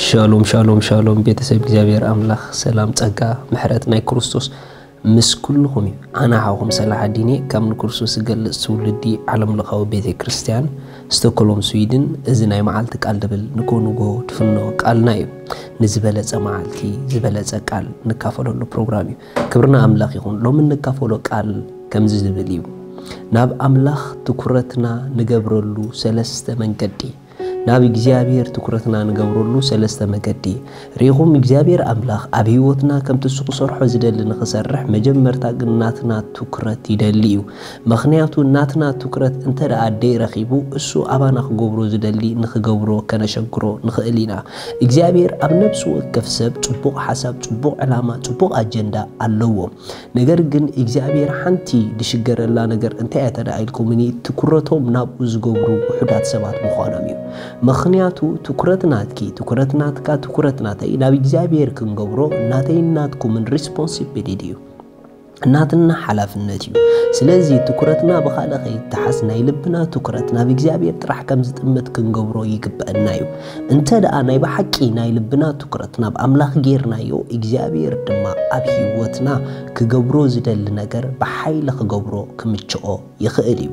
ሻሎም ሻሎም ሻሎም፣ ቤተሰብ እግዚኣብሔር ኣምላኽ ሰላም፣ ጸጋ፣ ምሕረት ናይ ክርስቶስ ምስ ኩልኹም እዩ። ኣነ ሓውኹም ሰላሓዲን እየ፣ ካብ ንክርስቶስ ዝገልጽ ትውልዲ ዓለም ለኻዊ ቤተ ክርስቲያን፣ ስቶክሆልም ስዊድን። እዚ ናይ መዓልቲ ቃል ድብል ንጎ ንጎ ትፍኖ ቃልና እዩ። ንዝበለጸ መዓልቲ ዝበለጸ ቃል ንካፈለሉ ፕሮግራም እዩ። ክብርና ኣምላኽ ይኹን። ሎሚ እንካፈሎ ቃል ከምዚ ዝብል እዩ። ናብ ኣምላኽ ትኩረትና ንገብረሉ ሰለስተ መንገዲ። ናብ እግዚኣብሔር ትኩረትና ንገብረሉ ሰለስተ መገዲ። ርኢኹም፣ እግዚኣብሔር ኣምላኽ ኣብ ህይወትና ከምቲ እሱ ክሰርሖ ዝደሊ ንኽሰርሕ፣ መጀመርታ ግን ናትና ትኩረት ይደሊ እዩ። ምኽንያቱ ናትና ትኩረት እንተ ደኣ ደይረኺቡ፣ እሱ ኣባና ክገብሮ ዝደሊ ንኽገብሮ ከነሸግሮ ንኽእል ኢና። እግዚኣብሔር ኣብ ነፍሲ ወከፍ ሰብ ጽቡቕ ሓሳብ፣ ጽቡቕ ዕላማ፣ ጽቡቕ ኣጀንዳ ኣለዎ። ነገር ግን እግዚኣብሔር ሓንቲ ዝሽገረላ ነገር እንታይ እያ ተደኣ ኢልኩምኒ፣ ትኩረቶም ናብኡ ዝገብሩ ውሑዳት ሰባት ምዃኖም እዩ። ምኽንያቱ ትኩረት ናትኪ፣ ትኩረት ናትካ፣ ትኩረት ናተይ ናብ እግዚኣብሔር ክንገብሮ ናተይን ናትኩምን ሪስፖንሲቢሊቲ እዩ። ናትና ሓላፍነት እዩ። ስለዚ ትኩረትና ብኻልእ ከይተሓዝ ናይ ልብና ትኩረት ናብ እግዚኣብሔር ጥራሕ ከም ዝጥምት ክንገብሮ ይግበአና እዩ። እንተ ደኣ ናይ ብሓቂ ናይ ልብና ትኩረት ናብ ኣምላኽ ጌርናዮ፣ እግዚኣብሔር ድማ ኣብ ህይወትና ክገብሮ ዝደሊ ነገር ብሓይሊ ክገብሮ ክምችኦ ይኽእል እዩ።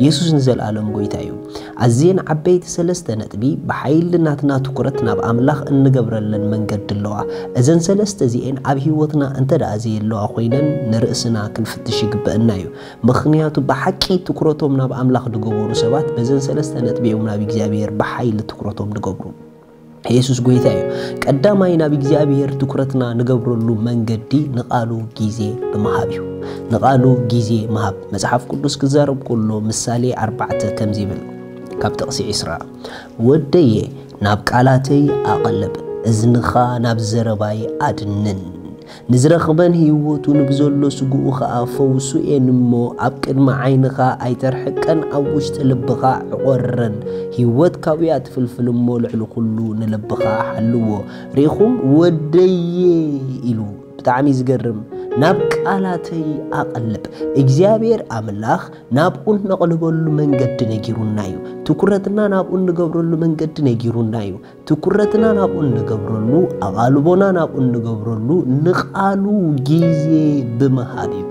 የሱስ ንዘለኣለም ጎይታ እዩ። ኣዝየን ዓበይቲ ሰለስተ ነጥቢ ብሓይሊ ናትና ትኩረት ናብ ኣምላኽ እንገብረለን መንገዲ ኣለዋ። እዘን ሰለስተ እዚኤን ኣብ ህይወትና እንተ ደኣ ዘየለዋ ኮይነን ንርእስና ክንፍትሽ ይግበአና እዩ። ምኽንያቱ ብሓቂ ትኩረቶም ናብ ኣምላኽ ዝገበሩ ሰባት በዘን ሰለስተ ነጥቢ እዮም ናብ እግዚኣብሔር ብሓይሊ ትኩረቶም ዝገብሩ። የሱስ ጎይታ እዩ። ቀዳማይ ናብ እግዚኣብሔር ትኩረትና ንገብረሉ መንገዲ ንቓሉ ግዜ ብምሃብ እዩ። ንቓሉ ግዜ ምሃብ። መጽሓፍ ቅዱስ ክዛረብ ከሎ ምሳሌ ኣርባዕተ ከምዚ ይብል፣ ካብ ጥቕሲ ዕስራ፣ "ወደየ ናብ ቃላተይ ኣቐልብ፣ እዝንኻ ናብ ዘረባይ ኣድንን። ንዝረኽበን ህይወቱ ንብዘሎ ስግኡ ኸኣ ፈውሱ እየን እሞ፣ ኣብ ቅድሚ ዓይንኻ ኣይተርሕቀን፣ ኣብ ውሽጢ ልብኻ ዕቖረን። ህይወት ካብኡ እያ ትፍልፍል እሞ፣ ልዕሊ ኹሉ ንልብኻ ሓልዎ።" ርኢኹም? "ወደየ" ኢሉ። ብጣዕሚ ዝገርም። "ናብ ቃላተይ ኣቐልብ።" እግዚኣብሔር ኣምላኽ ናብኡ እነቕልበሉ መንገዲ ነጊሩና እዩ። ትኩረትና ናብኡ እንገብረሉ መንገዲ ነጊሩና እዩ። ትኩረትና ናብኡ እንገብረሉ፣ ኣቓልቦና ናብኡ እንገብረሉ፣ ንቓሉ ግዜ ብምሃብ እዩ።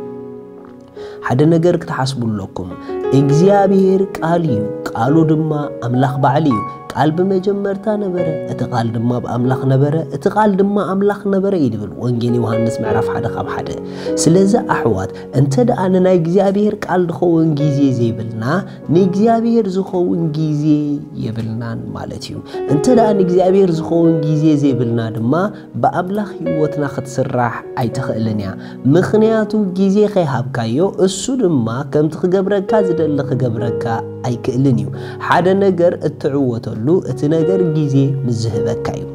ሓደ ነገር ክትሓስቡ ኣለኩም። እግዚኣብሔር ቃል እዩ፣ ቃሉ ድማ ኣምላኽ ባዕሉ እዩ። "ቃል ብመጀመርታ ነበረ፣ እቲ ቃል ድማ ብኣምላኽ ነበረ፣ እቲ ቃል ድማ ኣምላኽ ነበረ" እዩ ዝብል ወንጌል ዮሃንስ ምዕራፍ ሓደ ካብ ሓደ። ስለዚ ኣሕዋት፣ እንተ ደኣ ንናይ እግዚኣብሔር ቃል ዝኸውን ግዜ ዘይብልና፣ ንእግዚኣብሔር ዝኸውን ግዜ የብልናን ማለት እዩ። እንተ ደኣ ንእግዚኣብሔር ዝኸውን ግዜ ዘይብልና ድማ፣ ብኣምላኽ ህይወትና ክትስራሕ ኣይትኽእልን እያ። ምኽንያቱ ግዜ ከይሃብካዮ፣ እሱ ድማ ከምቲ ክገብረካ ዝደሊ ክገብረካ ኣይክእልን እዩ። ሓደ ነገር እትዕወተሉ፣ እቲ ነገር ግዜ ምስ ዝህበካ እዩ።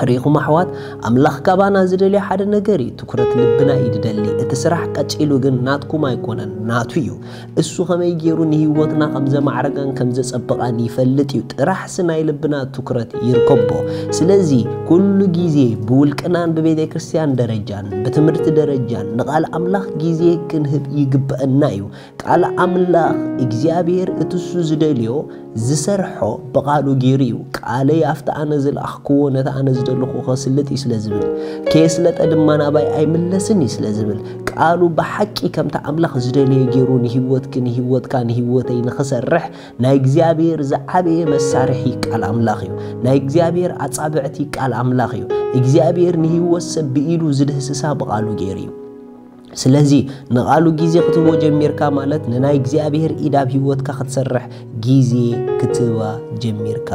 ርኢኹም ኣሕዋት፣ ኣምላኽ ካባና ዝደልዮ ሓደ ነገር እዩ። ትኩረት ልብና እዩ ዝደሊ። እቲ ስራሕ ቀጺሉ ግን ናትኩም ኣይኮነን፣ ናቱ እዩ። እሱ ከመይ ገይሩ ንህይወትና ከም ዘማዕረጋን ከም ዘጸበቓን ይፈልጥ እዩ። ጥራሕሲ ናይ ልብና ትኩረት ይርከቦ። ስለዚ ኩሉ ግዜ ብውልቅናን ብቤተ ክርስቲያን ደረጃን ብትምህርቲ ደረጃን ንቓል ኣምላኽ ግዜ ክንህብ ይግበአና እዩ። ቃል ኣምላኽ እግዚኣብሔር እቲ እሱ ዝደልዮ ዝሰርሖ ብቓሉ ገይሩ እዩ። "ቃለይ ኣብቲ ኣነ ዝለኣኽክዎ ነቲ ኣነ ዝደለኹ ከስልጥ እዩ" ስለ ዝብል፣ "ከየስለጠ ድማ ናባይ ኣይምለስን እዩ" ስለ ዝብል፣ ቃሉ ብሓቂ ከምቲ ኣምላኽ ዝደለየ ገይሩ ንህይወትኪ፣ ንህይወትካ፣ ንህይወተይ ንኽሰርሕ ናይ እግዚኣብሔር ዝዓበየ መሳርሒ ቃል ኣምላኽ እዩ። ናይ እግዚኣብሔር ኣጻብዕቲ ቃል ኣምላኽ እዩ። እግዚኣብሔር ንህይወት ሰብ ብኢዱ ዝድህስሳ ብቓሉ ገይሩ እዩ። ስለዚ ንቓሉ ግዜ ክትህቦ ጀሚርካ ማለት ንናይ እግዚኣብሔር ኢድ ኣብ ህይወትካ ክትሰርሕ ግዜ ክትህባ ጀሚርካ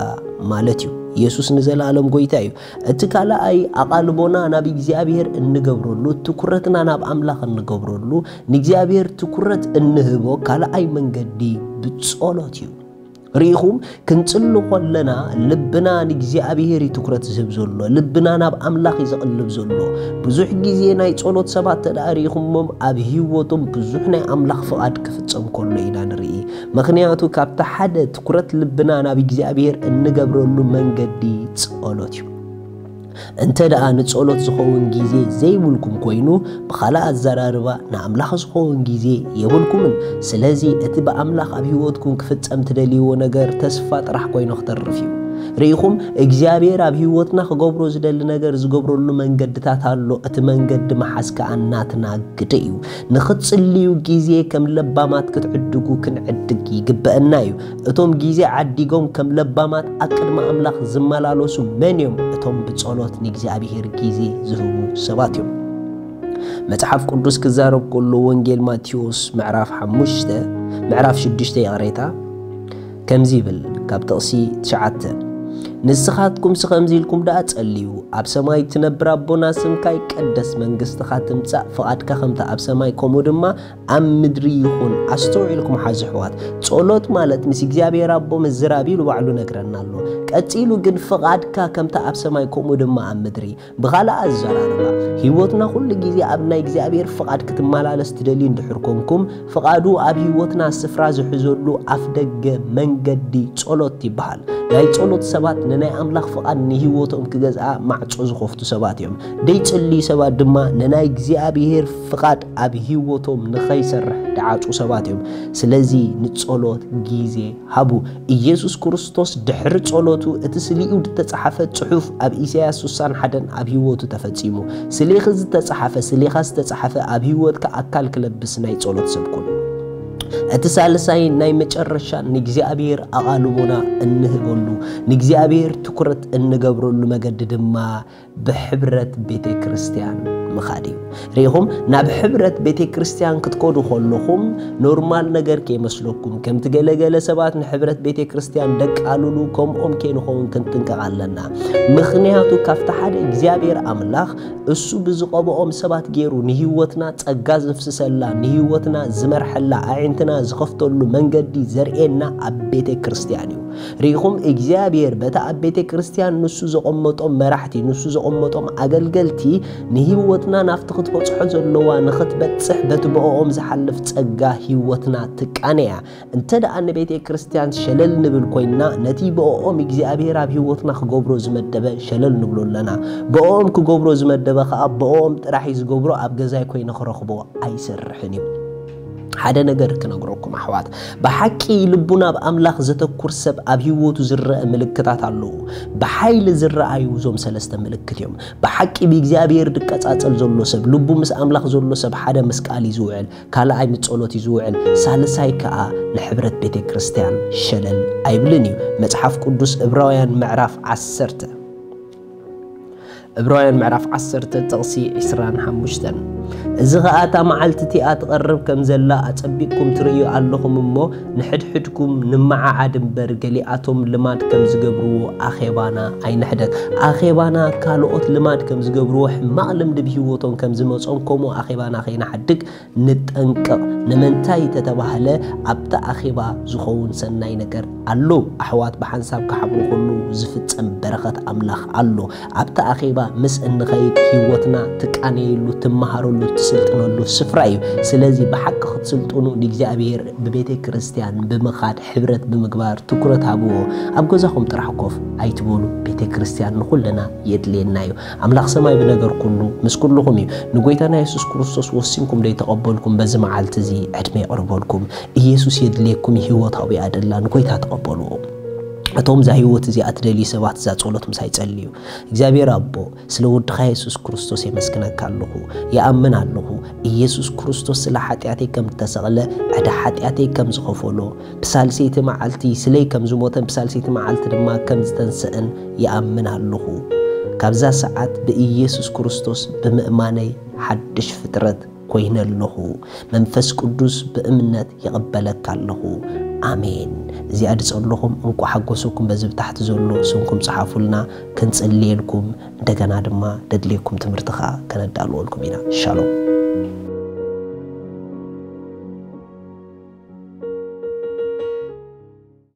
ማለት እዩ። የሱስ ንዘለኣለም ጎይታ እዩ። እቲ ካልኣይ ኣቓልቦና ናብ እግዚኣብሔር እንገብረሉ፣ ትኩረትና ናብ ኣምላኽ እንገብረሉ፣ ንእግዚኣብሔር ትኩረት እንህቦ ካልኣይ መንገዲ ብጸሎት እዩ። ርኢኹም፣ ክንጽሊ ከለና ልብና ንእግዚኣብሔር እዩ ትኩረት ዝህብ ዘሎ፣ ልብና ናብ ኣምላኽ እዩ ዘቕልብ ዘሎ። ብዙሕ ግዜ ናይ ጸሎት ሰባት ተደኣ ርኢኹሞም፣ ኣብ ህይወቶም ብዙሕ ናይ ኣምላኽ ፍቓድ ክፍጸም ከሎ ኢና ንርኢ። ምኽንያቱ ካብቲ ሓደ ትኩረት ልብና ናብ እግዚኣብሔር እንገብረሉ መንገዲ ጸሎት እዩ። እንተ ደኣ ንጸሎት ዝኸውን ግዜ ዘይብልኩም ኮይኑ፣ ብኻልእ ኣዘራርባ ንኣምላኽ ዝኸውን ግዜ የብልኩምን። ስለዚ እቲ ብኣምላኽ ኣብ ህይወትኩም ክፍጸም ትደልይዎ ነገር ተስፋ ጥራሕ ኮይኑ ክተርፍ እዩ። ርኢኹም፣ እግዚኣብሔር ኣብ ህይወትና ክገብሮ ዝደሊ ነገር ዝገብረሉ መንገድታት ኣሎ። እቲ መንገዲ ምሓዝ ከኣ ናትና ግደ እዩ። ንኽትጽልዩ ግዜ ከም ለባማት ክትዕድጉ ክንዕድግ ይግበአና እዩ። እቶም ግዜ ዓዲጎም ከም ለባማት ኣብ ቅድሚ ኣምላኽ ዝመላለሱ መን እዮም? እቶም ብጸሎት ንእግዚኣብሔር ግዜ ዝህቡ ሰባት እዮም። መጽሓፍ ቅዱስ ክዛረብ ከሎ፣ ወንጌል ማቴዎስ ምዕራፍ ሓሙሽተ፣ ምዕራፍ ሽዱሽተ፣ ይቕሬታ፣ ከምዚ ይብል፣ ካብ ጥቕሲ ትሽዓተ፣ "ንስኻትኩምሲ ከምዚ ኢልኩም ደኣ ጸልዩ፣ ኣብ ሰማይ ትነብር ኣቦና፣ ስምካ ይቀደስ፣ መንግስትኻ ትምጻእ፣ ፍቓድካ ከምታ ኣብ ሰማይ ከምኡ ድማ ኣብ ምድሪ ይኹን." ኣስተውዒልኩም ሓዙ ኣሕዋት፣ ጸሎት ማለት ምስ እግዚኣብሔር ኣቦ ምዝራብ ኢሉ ባዕሉ ነግረና ኣሎ። ቀጺሉ ግን፣ "ፍቓድካ ከምታ ኣብ ሰማይ ከምኡ ድማ ኣብ ምድሪ." ብኻልእ ኣዘራርባ፣ ህይወትና ኩሉ ግዜ ኣብ ናይ እግዚኣብሔር ፍቓድ ክትመላለስ ትደልዩ እንድሕር ኮንኩም፣ ፍቓዱ ኣብ ህይወትና ስፍራ ዝሕዘሉ ኣፍ ደገ መንገዲ ጸሎት ይበሃል። ናይ ጸሎት ሰባት ንናይ ኣምላኽ ፍቓድ ንህይወቶም ክገዝኣ ማዕጾ ዝኸፍቱ ሰባት እዮም። ደይጽልዩ ሰባት ድማ ንናይ እግዚኣብሔር ፍቓድ ኣብ ህይወቶም ንኸይሰርሕ ድዓጹ ሰባት እዮም። ስለዚ ንጸሎት ግዜ ሃቡ። ኢየሱስ ክርስቶስ ድሕሪ ጸሎቱ እቲ ስሊኡ ዝተጻሕፈ ጽሑፍ ኣብ ኢሳያስ ስሳን ሓደን ኣብ ህይወቱ ተፈጺሙ። ስሌኺ ዝተጻሕፈ፣ ስሌኻ ዝተጻሕፈ ኣብ ህይወትካ ኣካል ክለብስ ናይ ጸሎት ሰብ ኩን። እቲ ሳልሳይ ናይ መጨረሻ ንእግዚኣብሔር ኣቓልቦና እንህበሉ፣ ንእግዚኣብሔር ትኩረት እንገብረሉ መገዲ ድማ ብሕብረት ቤተ ክርስቲያን ምኻድ እዩ። ርኢኹም፣ ናብ ሕብረት ቤተ ክርስቲያን ክትከዱ ከለኹም ኖርማል ነገር ከይመስለኩም። ከምቲ ገለገለ ሰባት ንሕብረት ቤተ ክርስቲያን ደቃልሉ፣ ከምኦም ከይንኸውን ክንጥንቀቕ ኣለና። ምኽንያቱ ካብቲ ሓደ እግዚኣብሔር ኣምላኽ እሱ ብዝቐብኦም ሰባት ገይሩ ንህይወትና ጸጋ ዘፍስሰላ፣ ንህይወትና ዝመርሐላ፣ ኣዒንትና ዝኸፍተሉ መንገዲ ዘርእየና ኣብ ቤተ ክርስቲያን እዩ። ርኢኹም፣ እግዚኣብሔር በቲ ኣብ ቤተ ክርስቲያን ንሱ ዘቐመጦም መራሕቲ፣ ንሱ ዘቐመጦም ኣገልገልቲ ንህይወትና ናብቲ ክትበጽሖ ዘለዋ ንኽትበጽሕ በቲ ብእኦም ዝሓልፍ ጸጋ ህይወትና ትቃነ እያ። እንተ ደኣ ንቤተ ክርስቲያን ሸለል ንብል ኮይንና፣ ነቲ ብእኦም እግዚኣብሔር ኣብ ህይወትና ክገብሮ ዝመደበ ሸለል ንብሎ ኣለና። ብእኦም ክገብሮ ዝመደበ ከኣ ብእኦም ጥራሕ እዩ ዝገብሮ፣ ኣብ ገዛይ ኮይነ ክረኽቦ ኣይሰርሕን እዩ። ሓደ ነገር ክነግረኩም ኣሕዋት፣ ብሓቂ ልቡ ናብ ኣምላኽ ዘተኩር ሰብ ኣብ ህይወቱ ዝረአ ምልክታት ኣለዉ። ብሓይሊ ዝረኣዩ እዞም ሰለስተ ምልክት እዮም። ብሓቂ ብእግዚኣብሔር ዝቀጻጸል ዘሎ ሰብ፣ ልቡ ምስ ኣምላኽ ዘሎ ሰብ ሓደ ምስ ቃል እዩ ዝውዕል፣ ካልኣይ ምስ ጸሎት እዩ ዝውዕል፣ ሳልሳይ ከኣ ንሕብረት ቤተ ክርስቲያን ሸለል ኣይብልን እዩ። መጽሓፍ ቅዱስ ዕብራውያን ምዕራፍ ዓሰርተ፣ ዕብራውያን ምዕራፍ ዓሰርተ ጥቕሲ ዕስራን ሓሙሽተን፣ "እዚ ኸኣ እታ መዓልቲ እቲኣ ትቐርብ ከም ዘላ ኣጸቢቕኩም ትርእዩ ኣለኹም እሞ፣ ንሕድሕድኩም ንመዓዓድ እምበር፣ ገሊኣቶም ልማድ ከም ዝገብርዎ ኣኼባና ኣይንሕደግ።" ኣኼባና ካልኦት ልማድ ከም ዝገብርዎ፣ ሕማቕ ልምዲ ብህይወቶም ከም ዝመጾም፣ ከምኡ ኣኼባና ከይንሓድግ ንጠንቀቕ። ንምንታይ ተተባህለ፣ ኣብቲ ኣኼባ ዝኸውን ሰናይ ነገር ኣሎ። ኣሕዋት ብሓንሳብ ክሓብሩ ከሉ ዝፍጸም በረኸት ኣምላኽ ኣሎ። ኣብቲ ኣኼባ ምስ እንኸይድ ህይወትና ትቃነየሉ፣ ትመሃረሉ፣ ትስልጥነሉ ስፍራ እዩ። ስለዚ ብሓቂ ክትስልጥኑ ንእግዚኣብሔር ብቤተ ክርስቲያን ብምኻድ ሕብረት ብምግባር ትኩረት ሃብዎ። ኣብ ገዛኹም ጥራሕ ኮፍ ኣይትበሉ። ቤተ ክርስቲያን ንኹልና የድልየና እዩ። ኣምላኽ ሰማይ ብነገር ኩሉ ምስ ኩልኹም እዩ። ንጎይታና የሱስ ክርስቶስ ወሲንኩም ደይተቐበልኩም በዚ መዓልቲ እዚ ዕድመ የቕርበልኩም። ኢየሱስ የድልየኩም፣ ህይወት ኣብኡ እያ ደላ። ንጎይታ ተቐበልዎ። እቶም እዛ ህይወት እዚኣ ትደልዩ ሰባት እዛ ጸሎት ምሳይ ጸልዩ። እግዚኣብሔር ኣቦ፣ ስለ ወድኻ የሱስ ክርስቶስ የመስግነካ ኣለኹ። ይኣምን ኣለኹ፣ ኢየሱስ ክርስቶስ ስለ ሓጢኣተይ ከም እተሰቕለ፣ ዕዳ ሓጢኣተይ ከም ዝኸፈሎ፣ ብሳልሰይቲ መዓልቲ ስለይ ከም ዝሞተን ብሳልሰይቲ መዓልቲ ድማ ከም ዝተንስአን ይኣምን ኣለኹ። ካብዛ ሰዓት ብኢየሱስ ክርስቶስ ብምእማነይ ሓድሽ ፍጥረት ኮይነ ኣለኹ። መንፈስ ቅዱስ ብእምነት ይቕበለካ ኣለኹ። ኣሜን። እዚኣ ድጸለኹም እንቋ ሓጎሰኩም በዚ ብታሕቲ ዘሎ ስምኩም ጸሓፉልና፣ ክንጽልየልኩም፣ እንደገና ድማ ደድልየኩም ትምህርቲ ኸኣ ከነዳልወልኩም ኢና። ሻሎም።